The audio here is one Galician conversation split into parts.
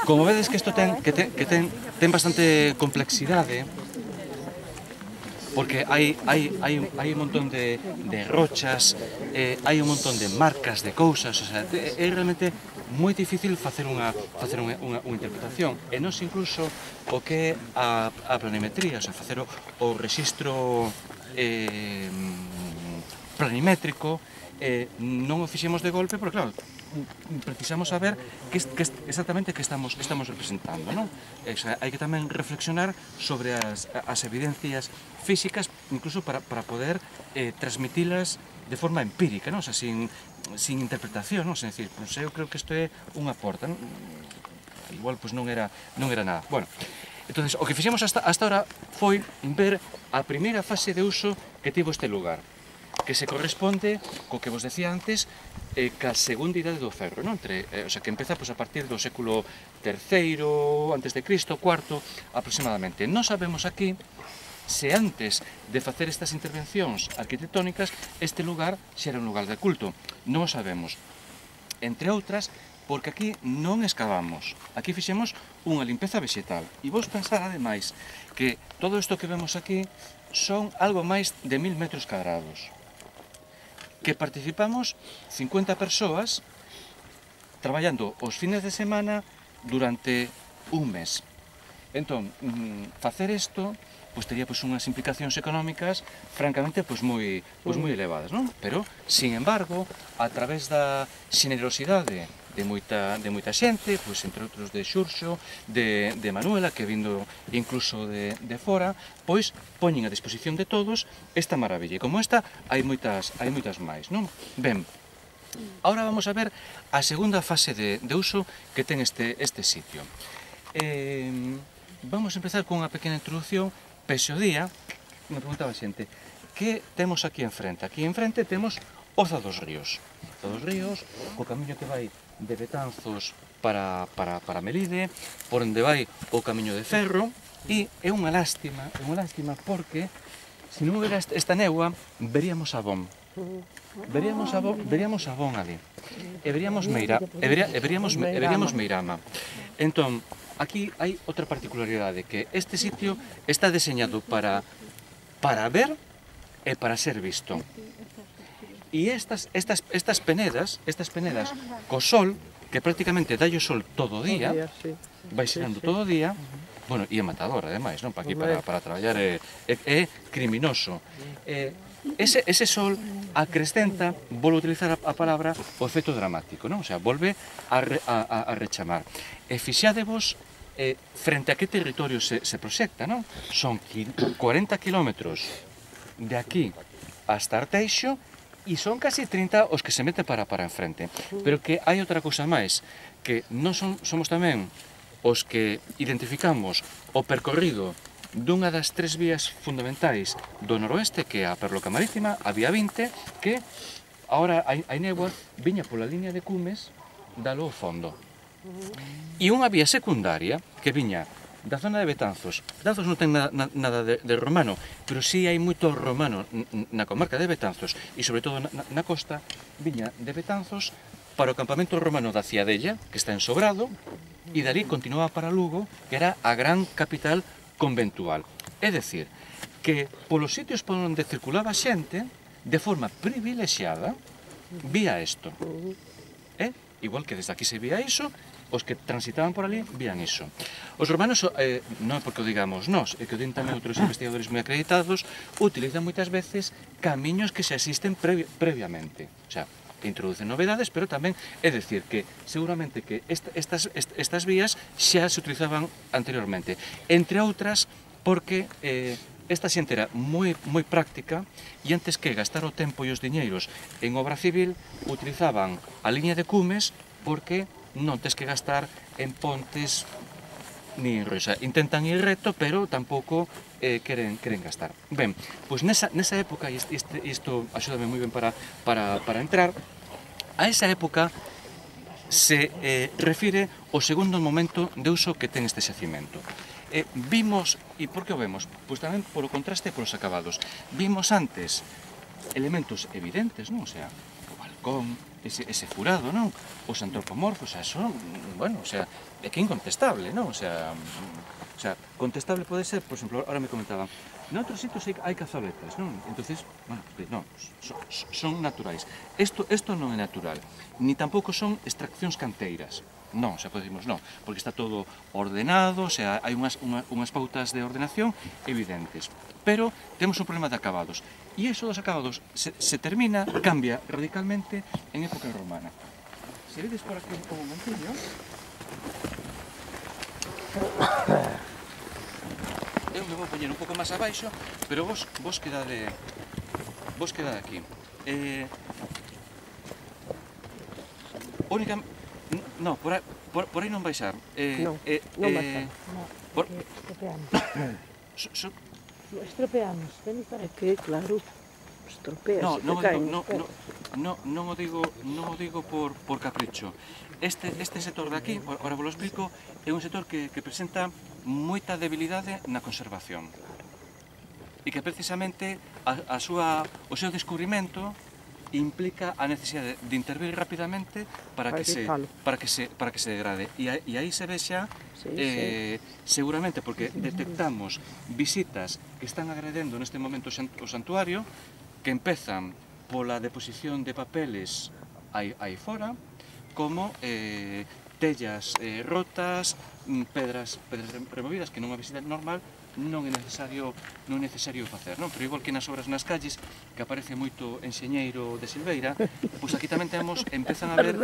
Como vedes que isto ten bastante complexidade, porque hai un montón de rochas, hai un montón de marcas de cousas, o sea, é realmente moi difícil facer unha interpretación. E nós incluso o que é a planimetría, o sea, facer o rexistro planimétrico, non o fixemos de golpe, porque claro, precisamos saber exactamente que estamos representando, non? Hai que tamén reflexionar sobre as evidencias físicas, incluso para poder transmitilas de forma empírica, non? O sea, sin interpretación, non? É dicir, pues eu creo que isto é unha porta, non? Igual pues non era nada. Bueno, entonces, o que fixemos hasta ahora foi ver a primeira fase de uso que tivo este lugar, que se corresponde co que vos decía antes, ca segunda idade do ferro, non? O sea, que empeza a partir do século III antes de Cristo, IV aproximadamente. Non sabemos aquí se antes de facer estas intervencións arquitectónicas este lugar xa era un lugar de culto. Non o sabemos. Entre outras, porque aquí non excavamos, aquí fixemos unha limpeza vegetal. E vos pensar, ademais, que todo isto que vemos aquí son algo máis de 1000 metros cadrados, que participamos 50 persoas traballando os fines de semana durante un mes. Entón, facer isto tería unhas implicacións económicas francamente moi elevadas, non? Pero, sin embargo, a través da xenerosidade de moita xente, entre outros de Xurxo, de Manuela, que vindo incluso de fora, poñen a disposición de todos esta maravilla. E como esta, hai moitas máis, non? Ben, agora vamos a ver a segunda fase de uso que ten este sitio. Vamos a empezar con unha pequena introducción. Pese o día, me preguntaba a xente, que temos aquí enfrente? Aquí enfrente temos Oza dos Ríos. Oza dos Ríos, o camiño que vai de Betanzos para Melide, por onde vai o camiño de ferro, e é unha lástima porque, se non houbera esta néboa, veríamos Abón. Veríamos Abón ali. E veríamos Meirama. Entón, aquí hai outra particularidade, que este sitio está deseñado para ver e para ser visto. E estas penedas co sol, que prácticamente dalle o sol todo o día, vai xerando todo o día, bueno, e é matador, ademais, non? Para traballar é criminoso. Ese sol acrescenta, volvo a utilizar a palabra, o efecto dramático, non? O sea, volve a rechamar. E fixádevos frente a que territorio se proxecta, non? Son 40 kilómetros de aquí hasta Arteixo e son casi 30 os que se mete para enfrente. Pero que hai outra cousa máis, que non somos tamén os que identificamos o percorrido dunha das tres vías fundamentais do noroeste, que é a Perloca Marítima, a Vía 20, que agora hai néboa, viña pola liña de Cumes, dalo ao fondo. E unha vía secundaria que viña da zona de Betanzos. Betanzos non ten nada de romano, pero si hai moito romano na comarca de Betanzos e sobre todo na costa. Viña de Betanzos para o campamento romano da Ciadella, que está en Sobrado, e dali continuaba para Lugo, que era a gran capital conventual. É dicir, que polos sitios por onde circulaba xente, de forma privilexiada, vía isto. Igual que desde aquí se vía iso, os que transitaban por ali vían iso. Os romanos, non é porque o digamos nós, é que o din tamén outros investigadores moi acreditados, utilizan moitas veces camiños que xa existen previamente. O sea, introducen novedades, pero tamén é dicir que seguramente que estas vías xa se utilizaban anteriormente. Entre outras, porque esta xente era moi práctica e antes que gastar o tempo e os diñeiros en obra civil, utilizaban a liña de Cumes porque non tes que gastar en pontes ni en ríos. Intentan ir recto, pero tampouco queren gastar. Ben, pois nesa época, e isto axúdame moi ben para entrar, a esa época se refire o segundo momento de uso que ten este xacimento. Vimos, e por que o vemos? Pois tamén polo contraste e polos acabados. Vimos antes elementos evidentes, non? O sea, o balcón, ese furado, non? Os antropomorfos, son, bueno, o sea, é que é incontestable, non? O sea, contestable pode ser, por exemplo, ahora me comentaban, noutros sitios hai cazoletas, non? Entonces, bueno, non, son naturais. Isto non é natural, ni tampouco son extraccións canteiras. Non, xa podemos, non, porque está todo ordenado, o sea, hai unhas pautas de ordenación evidentes. Pero temos un problema de acabados. E iso dos acabados se termina, cambia radicalmente en época romana. Se vedes por aquí un momentillo, eu me vou poñer un pouco máis abaixo, pero vos quedade aquí. Única... No, por aí non baixar. Non baixar. Estropeamos, ven para É que, claro, estropeas, non o digo por capricho. Este sector de aquí, agora vos lo explico, é un sector que presenta moita debilidade na conservación e que precisamente o seu descubrimento implica a necesidade de intervir rapidamente para que se degrade. E aí se vexa, seguramente, porque detectamos visitas que están agredendo neste momento o santuario, que empezan pola deposición de papeles aí fora, como tellas rotas, pedras removidas, que nunha visita normal non é necesario facer, non? Pero igual que nas obras nas calles, que aparece moito enxeñeiro de Silveira, pois aquí tamén empezan a haber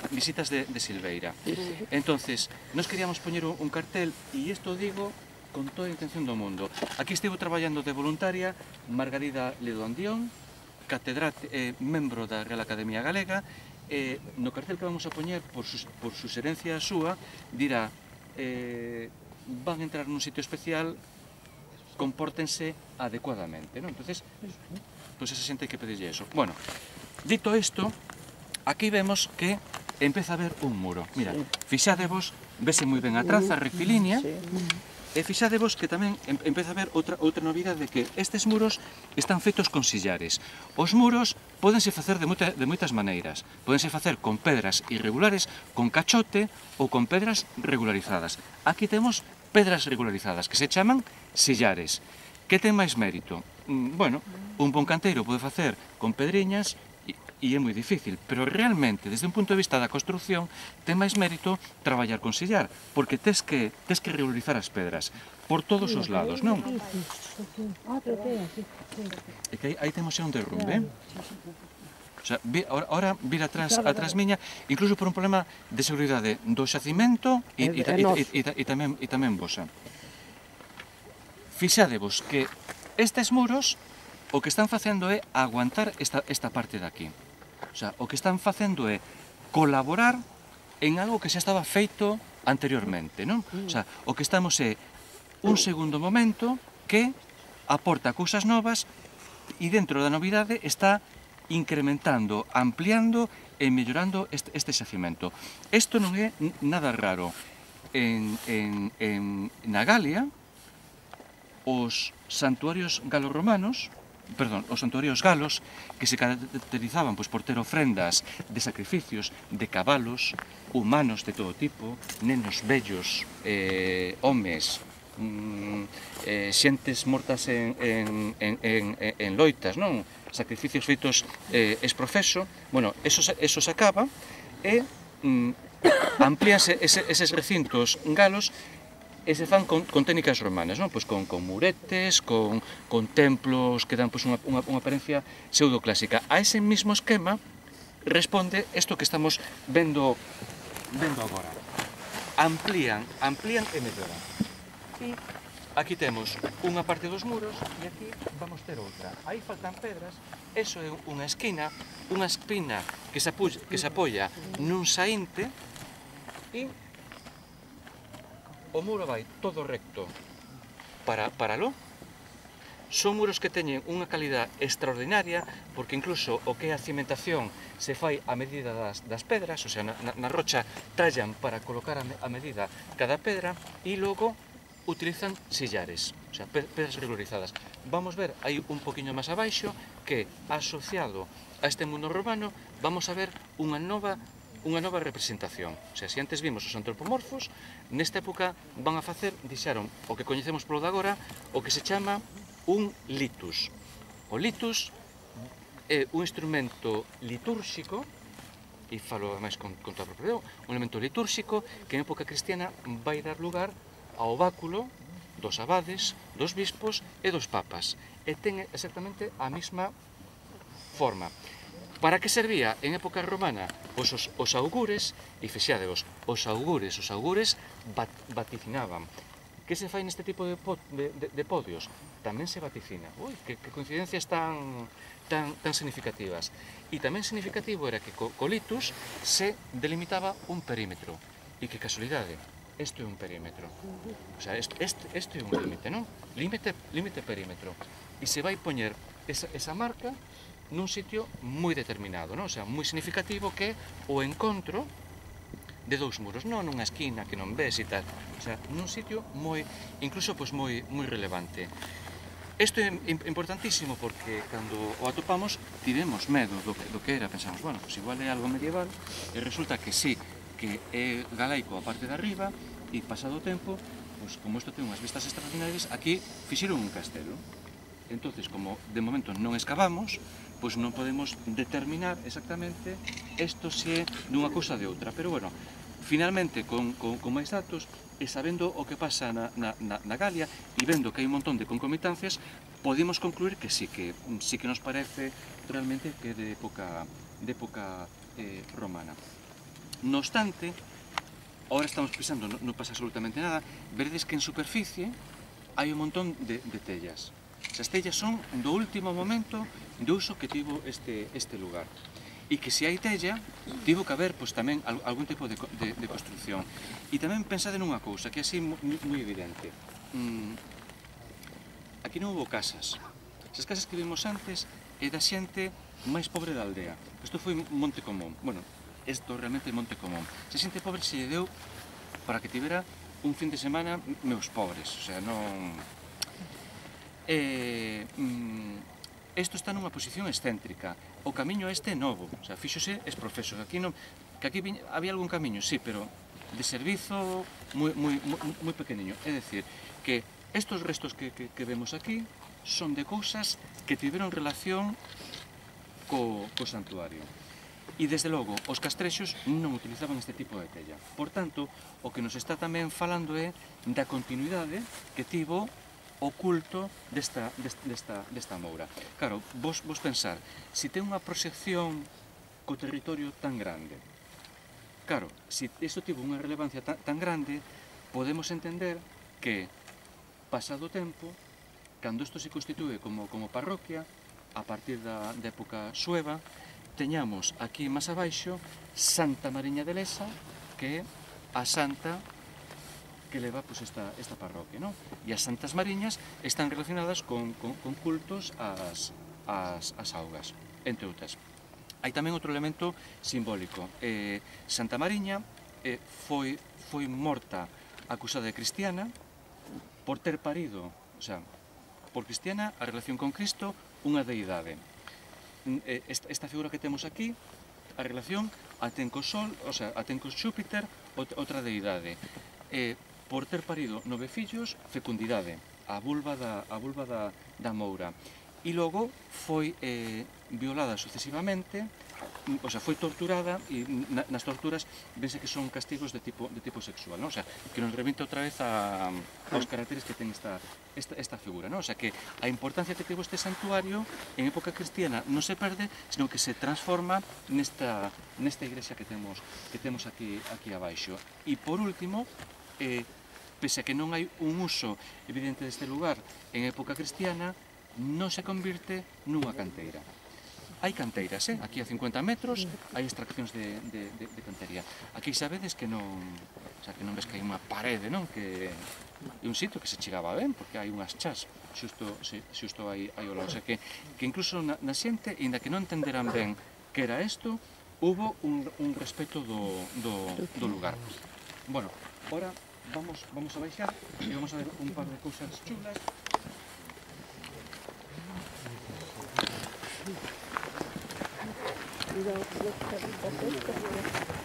visitas de Silveira. Entonces, nos queríamos poñer un cartel, e isto digo con toda a intención do mundo. Aquí estivo traballando de voluntaria Margarida Ledo Andión, membro da Real Academia Galega. No cartel que vamos a poñer, por suxerencia súa, dirá: van a entrar nun sitio especial, compórtense adecuadamente, non? Entonces, pois esa xente hai que pedirlle eso. Bueno, dito isto, aquí vemos que empeza a haber un muro. Mira, fixadevos, vese moi ben a traza rectilínea, e fixadevos que tamén empeza a haber outra novidade, que estes muros están feitos con sillares. Os muros pódense facer de moitas maneiras. Pódense facer con pedras irregulares, con cachote ou con pedras regularizadas. Aquí temos pedras regularizadas, que se chaman sillares. Que ten máis mérito? Bueno, un bon canteiro pode facer con pedriñas e é moi difícil, pero realmente, desde un punto de vista da construcción, ten máis mérito traballar con sillar, porque tes que regularizar as pedras por todos os lados, non? E que aí temos xa un derrumbe. O sea, ahora vir atrás miña, incluso por un problema de seguridade do xacimento e tamén vosa. Fixadevos que estes muros o que están facendo é aguantar esta parte de aquí. O sea, o que están facendo é colaborar en algo que xa estaba feito anteriormente, non? O sea, o que estamos é un segundo momento que aporta cousas novas e dentro da novidade está incrementando, ampliando e mellorando este xacimento. Isto non é nada raro. Na Galia, os santuarios galorromanos, os santuarios galos, que se caracterizaban por ter ofrendas de sacrificios de cabalos, humanos de todo tipo, nenos bellos, homes, xentes mortas en loitas, non? Sacrificios feitos exprofeso. Bueno, eso se acaba e amplíanse eses recintos galos e se fan con técnicas romanas, non? Pois con muretes, con templos que dan unha apariencia pseudoclásica. A ese mismo esquema responde isto que estamos vendo agora. Amplían e melloran. E aquí temos unha parte dos muros e aquí vamos ter outra. Aí faltan pedras, eso é unha espina que se apoia nun saínte e o muro vai todo recto para lo. Son muros que teñen unha calidad extraordinaria, porque incluso o que é a cimentación se fai a medida das pedras, o sea, na rocha tallan para colocar a medida cada pedra e logo utilizan sillares, o sea, pedras regularizadas. Vamos ver aí un poquinho máis abaixo que, asociado a este mundo romano, vamos a ver unha nova representación. O sea, se antes vimos os antropomorfos, nesta época van a facer, dixeron, o que coñecemos polo de agora, o que se chama un litus. O litus é un instrumento litúrxico, e falo máis con toda a propiedade, un elemento litúrxico que en época cristiana vai dar lugar ao báculo dos abades, dos bispos e dos papas. E ten exactamente a mesma forma. Para que servía en época romana? Pois os augures, e fixádevos, os augures vaticinaban. Que se fai neste tipo de podios? Tamén se vaticina. Ui, que coincidencias tan significativas. E tamén significativo era que co litus se delimitaba un perímetro. E que casualidade, isto é un perímetro. O sea, isto é un límite, non? Límite perímetro. E se vai poñer esa marca nun sitio moi determinado, non? O sea, moi significativo que o encontro de dous muros, non nunha esquina que non ves e tal. O sea, nun sitio moi, incluso pois moi relevante. Isto é importantísimo porque cando o atopamos tivemos medo do que era, pensamos, bueno, pois igual é algo medieval e resulta que sí, que é galaico a parte de arriba e pasado o tempo, pois como isto ten unhas vistas extraordinarias, aquí fixeron un castelo. Entonces, como de momento non escavamos, pois non podemos determinar exactamente isto se é dunha cousa de outra. Pero bueno, finalmente, con máis datos, e sabendo o que pasa na Galia, e vendo que hai un montón de concomitancias, podemos concluir que sí que nos parece realmente que é de época romana. No obstante, ahora estamos pisando, non pasa absolutamente nada, veredes que en superficie hai un montón de tellas. As tellas son do último momento de uso que tivo este lugar. E que se hai tella, tivo que haber pois, tamén algún tipo de construcción. E tamén pensade nunha cousa, que é así moi evidente. Aquí non houve casas. As casas que vimos antes é da xente máis pobre da aldea. Isto foi Monte Común. Bueno, isto realmente é Monte Común. Se xente pobre se lle deu para que tivera un fin de semana meus pobres. O sea, non... Isto está nunha posición excéntrica. O camiño este é novo. O sea, fíxose esprofeso. Que aquí había algún camiño, sí, pero de servizo moi pequeniño. É dicir, que estos restos que vemos aquí son de cousas que tiveron relación co santuario. E, desde logo, os castrexos non utilizaban este tipo de tella. Por tanto, o que nos está tamén falando é da continuidade que tivo o culto desta moura. Claro, vos pensar, se ten unha proxección co territorio tan grande, claro, se isto tivo unha relevancia tan grande, podemos entender que, pasado o tempo, cando isto se constitúe como parroquia, a partir da época sueva, teñamos aquí máis abaixo Santa Mariña de Lesa, que é a santa que leva esta parroquia, non? E as santas mariñas están relacionadas con cultos ás augas, entre outras. Hai tamén outro elemento simbólico. Santa Mariña foi morta acusada de cristiana por ter parido, o sea, por cristiana a relación con Cristo, unha deidade. Esta figura que temos aquí, a relación a ten co Sol, o sea, a ten co Xúpiter, outra deidade. Por ter parido 9 fillos, fecundidade, a vulva da moura. E logo foi violada sucesivamente, o sea, foi torturada, e nas torturas vense que son castigos de tipo sexual, non? O sea, que nos remite outra vez aos caracteres que ten esta figura, non? O sea, que a importancia que tivo este santuario en época cristiana non se perde, sino que se transforma nesta igrexa que temos aquí abaixo. E por último, pese a que non hai un uso evidente deste lugar en época cristiana, non se convirte nunha canteira. Hai canteiras, aquí a 50 metros hai extraccións de cantería. Aquí sabedes que non ves que hai unha parede, non? Que é un sitio que se chegaba ben, porque hai unhas chás xusto aí ao lado. O sea, que incluso na xente, inda que non entenderan ben que era isto, hubo un respeto do lugar. Bueno, ahora vamos a baixar e vamos a ver un par de cousas chulas. Cuidado con las caritas estas,